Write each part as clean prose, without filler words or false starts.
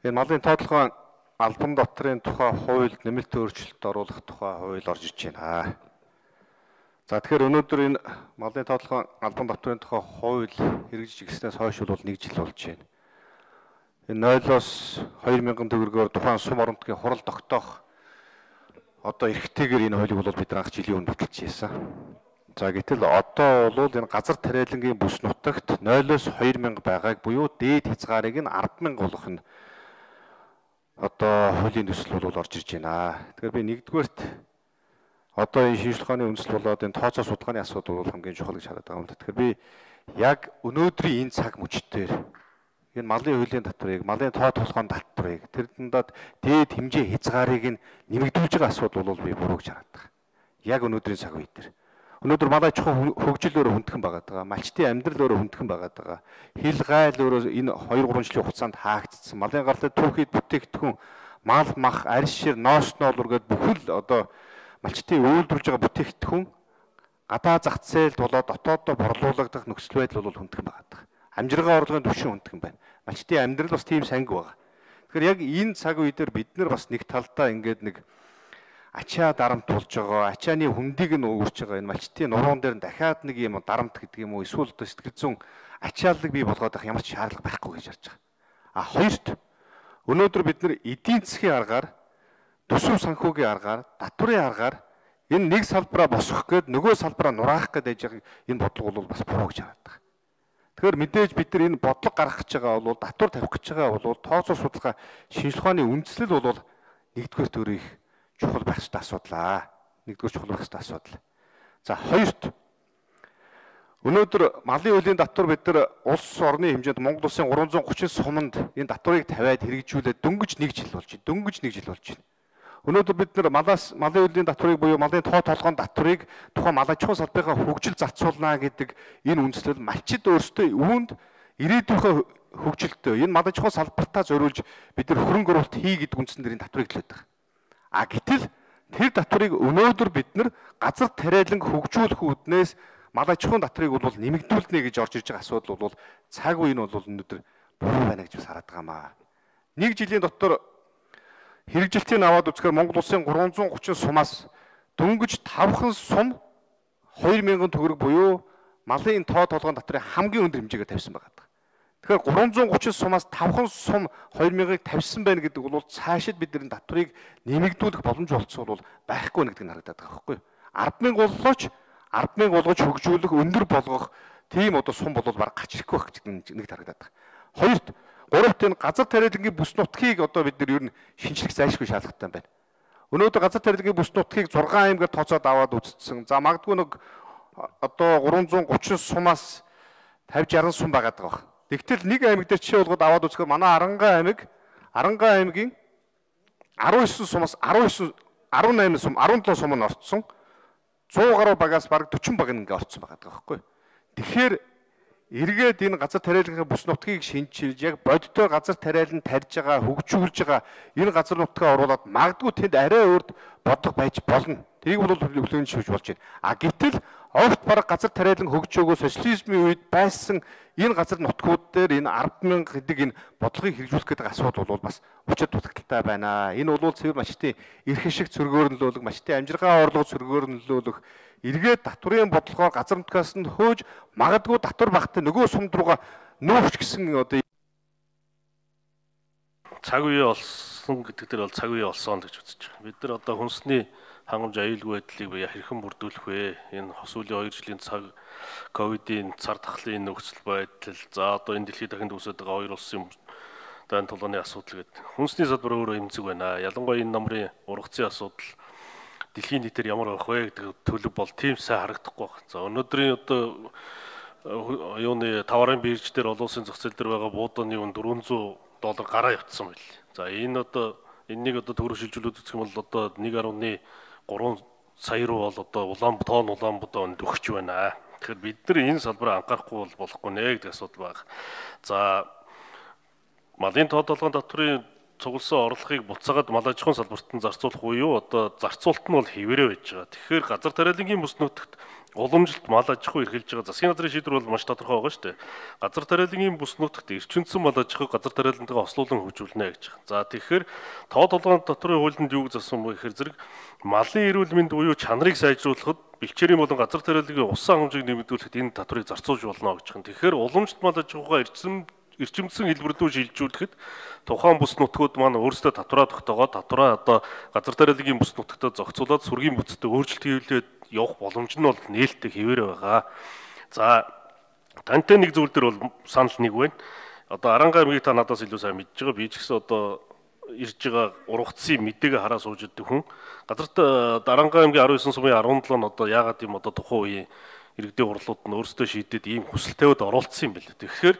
Энэ малын тоотлогын албан дотрын тухай хуульд нэмэлт өөрчлөлт оруулах тухай хууль орж иж байна. За тэгэхээр өнөөдөр энэ малын тоотлогын албан дотрын тухай хууль хэрэгжиж ирснээс хойш бол 1 жил болж байна. Энэ 0-оос 2000 төгрөгөөр тухайн сум оронтгийн хурал тогтоох одоо эрхтэйгээр энэ хуулийг бол бид анх жилийн өмнө баталж ийсэн. За гэтэл одоо бол энэ газар тариалангийн бүс нутагт 0-оос 2000 байгааг буюу дээд хязгаарыг нь 100000 болгох нь одоо хуулийн төсөл бол орж ирж байна. Тэгэхээр би нэгдүгээрт одоо энэ шинжилгээ ухааны үндэслэл болоод энэ тооцоо судалгааны асуудал бол хамгийн чухал гэж хараад байгаа юм да. Тэгэхээр би яг өнөөдрийн энэ цаг мөчтөөр энэ малын хуулийн татварыг, малын тоо толгойн татварыг, тэр дундад дээд хэмжээ хязгаарыг нь нэмэгдүүлж байгаа асуудал бол би буруу гэж хараад байгаа. Яг өнөөдрийн цаг үе дээр. Өнөөдөр малай чухал хөгжил өөрөө хүндхэн байгаад байгаа. Малчтын амьдрал өөрөө хүндхэн байгаад байгаа. Хил гайл өөрөө энэ 2-3 жилийн хугацаанд хаагдсан. Малын гаралтай түүхийд бүтээгдэхүүн, мал мах, арьс шир, ноос ноолур гээд бүхэл одоо малчтын үйлдвэрлэж байгаа бүтээгдэхүүн гадаа зах зээлд болоод дотооддоо борлуулагдах нөхцөл байдал бол хүндхэн байгаад байгаа. Амжиргаа орлогын түвшин хүндхэн байна. Малчтын амьдрал бас тийм санги байгаа. Тэгэхээр яг энэ цаг үе дээр бид нар бас нэг талдаа ингээд нэг ачаа дарамт болж байгаа, ачааны хөндийг нь өөрч байгаа энэ малчтын нуруунд дээр дахиад нэг юм дарамт гэдэг юм уу, эсвэл одоо сэтгэл зүйн ачааллыг бий болгоод авах ямар ч шаардлага байхгүй гэж харж байгаа. А хоёрт өнөөдөр бид нар эдийн засгийн аргаар, төсөв санхүүгийн аргаар, татварын аргаар энэ нэг салбараа босгох гээд нөгөө салбараа нураах гээд байж байгаа энэ бодлого бол бас буруу гэж хараад байгаа. Тэгэхээр мэдээж бид нар энэ бодлого гаргах гэж байгаа бол татвар тавих гэж байгаа бол тооцоо судалгаа шинжилгээ ухааны үндэслэл бол нэгдүгээр төрөй чухал байх ёстой асуудал. Нэгдүгээр чухал байх ёстой асуудал. За хоёрт өнөөдөр малын хуулийн татвар бид нар улс орны хэмжээнд Монгол улсын 330 суманд энэ татварыг тавиад хэрэгжүүлээд дөнгөж 1 жил болж байна. Дөнгөж 1 жил болж байна. Өнөөдөр бид нар малын хуулийн татварыг буюу малын тоо толгойн татварыг тухайн малын чухал салбарынхаа хөгжил зарцуулна гэдэг энэ үндэслэл малчид өөрсдөө үүнд ирээдүйнхөө хөгжилтөө энэ малын чухал салбартаа зориулж бид нар хөрөнгө оруулалт хий гэдэг үндсэн дээр энэ татварыг төлөөд байгаа. А гэтэл тэр татварыг өнөөдөр бид нар газар тариалан хөгжүүлэх үүднээс малын чухал татварыг бол нэмэгдүүлнэ гэж орж ирж байгаа асуудал бол цаг үе нь бол өнөөдөр буруу байна гэж бас хараад байгаамаа. 1 жилийн дотор хэрэгжилтийг аваад үзэхээр Монгол улсын 330 сумаас дөнгөж 5хан сум 2000 төгрөг буюу малын тоо толгойн татврын хамгийн өндөр хэмжээгээр тавьсан байгаа. Тэгэхээр 330 сумаас 5хан сум 2000-ыг тавьсан байна гэдэг бол цаашид бид энэ татварыг нэмэгдүүлэх боломж олцсон бол байхгүй нэгдэг нь харагдаад байгаа байхгүй юу? 100000 боллооч 100000 болгож хөгжүүлэх, өндөр болгох тийм одоо сум бол баг гарч ирэхгүй байх гэдэг нэг харагдаад байгаа. Хоёрт гуравт энэ газар тариалангийн бүс нутгийг одоо бид нар ер нь шинжлэх зайлшгүй шаардлагатай байна. Өнөөдөр газар тариалангийн бүс нутгийг 6 аймгаар тооцоод аваад үзсэн. За магадгүй нэг одоо 330 сумаас 50-60 сум байгаад байгаа. Тэгтэл нэг аймаг дээр жишээ болгоод аваад үзэхээр манай Арангаа аймгийн 19 сумаас 18 сум, 17 сум нь орцсон. 100 гаруй багаас бараг 40 баг ингээ орцсон байгаа байхгүй. Тэгэхээр эргээд энэ газар тариалангийн бүс нутгийг шинжилж яг бодиттой газар тариалан тарьж байгаа, хөгжүүлж байгаа энэ газар нутгаа оруулаад магадгүй тэнд арай өөрт бодлого байж болно. Тэрийг бол хүлээн зөвшөөрж болж байна. А гэтэл огт бараг газар тариалан хөгжөөгөө социализмын үед байсан энэ газар нутгууд дээр энэ 100000 гэдэг энэ бодлогыг хэрэгжүүлэх гэдэг асуудал бол бас учир дутагдaltaй байна. Энэ бол цэвэр малчтын эрх ашиг цөргөөр нөлөөлөх, малчтын амжиргаа орлого цөргөөр нөлөөлөх, эргээд татварын бодлогоор газар нутгаас нь хөөж магадгүй татвар багтаа нөгөө сумд руугаа нөөч гэсэн одоо цаг үе олсон гэдэг дээр бол цаг үе олсон гэж үзэж байгаа. Бид нар одоо хүнсний хангамж аюулгүй байдлыг бая хэрхэн бүрдүүлэх вэ? Энэ сүүлийн 2 жилийн цаг ковидын цар тахлын нөхцөл байдал, за одоо энэ дэлхийд дахин үүсэж байгаа 2 улсын дайн тулгааны асуудал гэдэг. Хүнсний салбар өөрөө эмзэг байна. Ялангуяа энэ намрын ургацын асуудал дэлхийн нийтээр ямар байх вэ гэдэг төлөв бол тийм сайн харагдахгүй байна. За өнөөдрийн одоо юуны товарын бирж дээр олон улсын зах зээл дээр байгаа буудааны үн $400 гараа явцсан байл. За энэ одоо энэнийг одоо төгрөг шилжүүлээд үзэх юм бол одоо 1.3 сая руу бол одоо Улаанбаатар өгч байна. Тэгэхээр бид нар энэ салбараа анхаарахгүй бол болохгүй нэ гэдэг асуудал байна. За малын тоо толгойн татврын цугласан орлогыг буцаагаад мал аж ахуйн салбарт нь зарцуулах уу юу? Одоо зарцуулалт нь бол хэвээрээ байж байгаа. Тэгэхээр газар тариалангийн бүс нутагт уламжилт мал аж ахуй эрхэлж байгаа засгийн газрын шийдвэр бол маш тодорхой байгаа шүү дээ. Газар тариалангийн бүс нутагт эрчимцэн мал аж ахуйг газар тариалантайгаа ослуулан хөгжүүлнэ гэж. За тэгэхээр тоо толгойн дотрын хуулинд юу гэж зассан бэ гэхээр зэрэг малын эрүүл мэнд буюу чанарыг сайжруулахад бэлчээрийн болон газар тариалангийн усан хэмжээг нэмэгдүүлэхэд энэ татварыг зарцуулж болно гэж. Тэгэхээр уламжлалт мал аж ахуйгаа эрчимцэн хэлбэр рүү шилжүүлэхэд тухайн бүс нутгууд маань өөрсдөө татвараа тогтоогоод татвараа одоо газар тариалангийн бүс нутагтаа зохицуулаад сүргийн бүтэцтэй өөрчлөлт хийлээд явах боломж нь бол нээлттэй хэвээр байгаа. За тантай нэг зүйл дээр бол санал нэг байна. Одоо Аранга аймгийг та надаас илүү сайн мэдж байгаа. Би ч гэсэн одоо ирж байгаа ургацын мэдээгээ хараа сууж идэх хүн. Газарт Аранга аймгийн 19 сумын 17 нь одоо яагаад юм одоо тухайн үеийн иргэдийн хурлууд нь өөрсдөө шийдээд ийм хүсэл тавиад оролцсон юм бэл. Тэгэхээр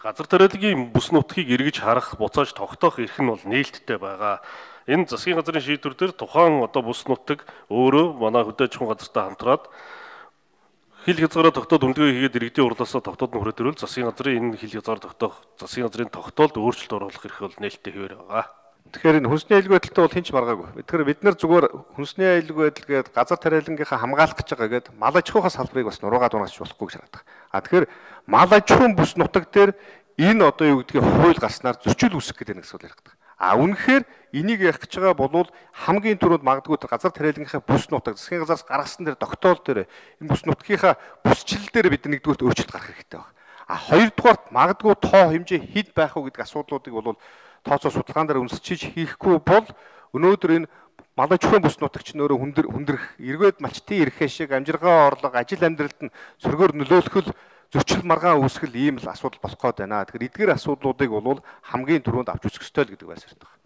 газар тариалангийн бүс нутгийг эргэж харах, буцааж тогтоох эрх нь бол нээлттэй байгаа. Энэ засгийн газрын шийдвэр дээр тухайн одоо бүс нутаг өөрөө манай хөдөө аж ахуйн газартай хамтраад хил хязгаараа тогтоод үндэгээ хийгээд иргэдийн хурлаасаа тогтоод нөхрөөд ирвэл засгийн газрын энэ хил хязгаар тогтоох засгийн газрын тогтоолд өөрчлөлт оруулах эрх бол нээлттэй хэвээр байгаа. Тэгэхээр энэ хүнсний аюулгүй байдалтай бол хинч маргаагүй. Тэгэхээр бид нар зүгээр хүнсний аюулгүй байдал гээд газар тариалангийнхаа хамгаалах гэж байгаа гээд мал аж ахуйн салбарыг бас нуруугаад унаасч болохгүй гэж хараад байгаа. Тэгэхээр мал аж ахуйн бүс нутаг дээр энэ одоо юу гэдгийг хууль гарснаар зөрчил үүсэх гэдэг нэг зүйл ярих гэдэг. Үнэхээр энийг ярих гэж байгаа бол хамгийн түрүүнд магадгүй газар тариалангийнхаа бүс нутаг засгийн газраас гаргасан дээр тогтоол дээр энэ бүс нутгийнхаа бүсчил дээр бид нэгдүгürt өөрчлөлт гаргах хэрэгтэй байна. Хоёрдугаарт магадгүй тоо хэмжээ хэд байх уу гэдэг асуудлуудыг бол тооцоо судалгаан дээр үнэлж хийхгүй бол өнөөдөр энэ мал аж ахуйн бүс нутагч нөрөө хүндрэх эргээд малчтын эрх ашиг амжиргаа орлого ажил амьдралд нь сөргөөр нөлөөлөх зөрчил маргаан үүсгэл ийм л асуудал болох гээд байна. Тэгэхээр эдгээр асуудлуудыг бол хамгийн түрүүнд авч үзэх ёстой л гэдэг байр суурь байна.